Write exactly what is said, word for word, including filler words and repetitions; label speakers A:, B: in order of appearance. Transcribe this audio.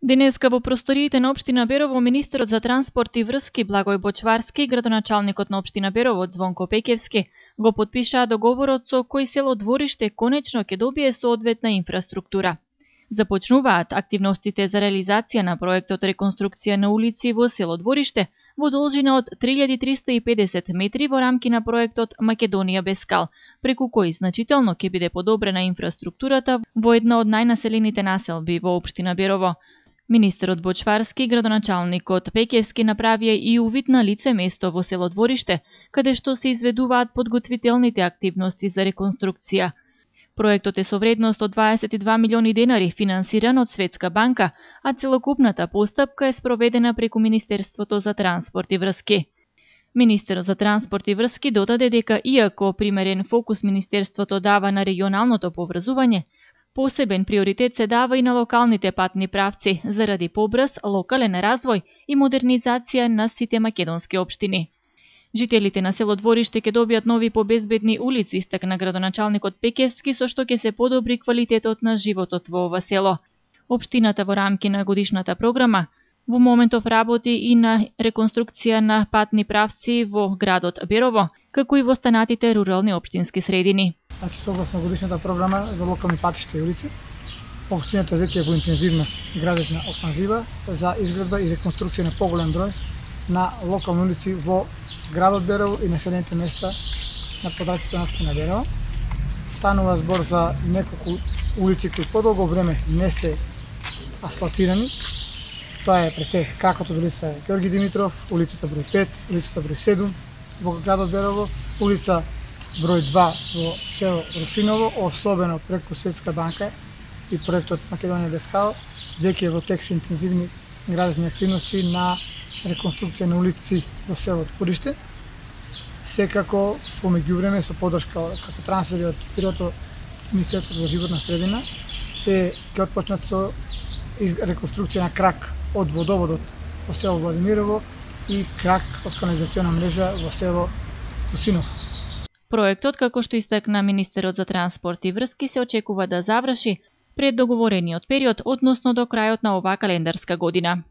A: Денеска во просториите на општина Берово министерот за транспорт и врски Благој Бочварски и градоначалникот на општина Берово Звонко Пеќевски го потпишаа договорот со кој село Двориште конечно ќе добие соодветна инфраструктура. Започнуваат активностите за реализација на проектот реконструкција на улици во село Двориште во должина од три илјади триста и педесет метри во рамки на проектот Македонија без скал, преку кој значително ќе биде подобрена инфраструктурата во една од најнаселените населби во општина Берово. Министерот Бочварски и градоначалникот Пеќевски направија и увид на лице место во село Двориште, каде што се изведуваат подготвителните активности за реконструкција. Проектот е со вредност од дваесет и два милиони денари, финансиран од Светска банка, а целокупната постапка е спроведена преку Министерството за транспорт и врски. Министерот за транспорт и врски додаде дека иако примерен фокус Министерството дава на регионалното поврзување, посебен приоритет се дава и на локалните патни правци, заради побрз локален развој и модернизација на сите македонски општини. Жителите на село Двориште ќе добијат нови побезбедни улици, истакна градоначалникот Пеќевски, со што ќе се подобри квалитетот на животот во ова село. Општината во рамки на годишната програма во моментов работи и на реконструкција на патни правци во градот Берово, како и во останатите рурални општински средини.
B: Значи, согласно годишната програма за локални патишта и улици, општината веќе е во интензивна градежна офанзива за изградба и реконструкција на поголем број на локални улици во градот Берово и населените места на подрачјето на општина Берово. Станува збор за неколку улици кои подолго време не се асфалтирани. Тоа е пред се какото од улицата Ѓорги Димитров, улицата број пет, улицата број седум во градот Берово, улица број два во село Русиново, особено преку Светска банка и проектот Македонија без скал, веќе во тек се интензивни градежни активности на реконструкција на улици во село Двориште. Секако, по меѓувреме, со подршка како трансфери од Бирото Министерството за животна средина, се ќе отпочнат со реконструкција на крак од водоводот во село Владимирово и крак од канализациона мрежа во село Русинов.
A: Проектот, како што истакна министерот за транспорт и врски, се очекува да заврши пред договорениот период, односно до крајот на оваа календарска година.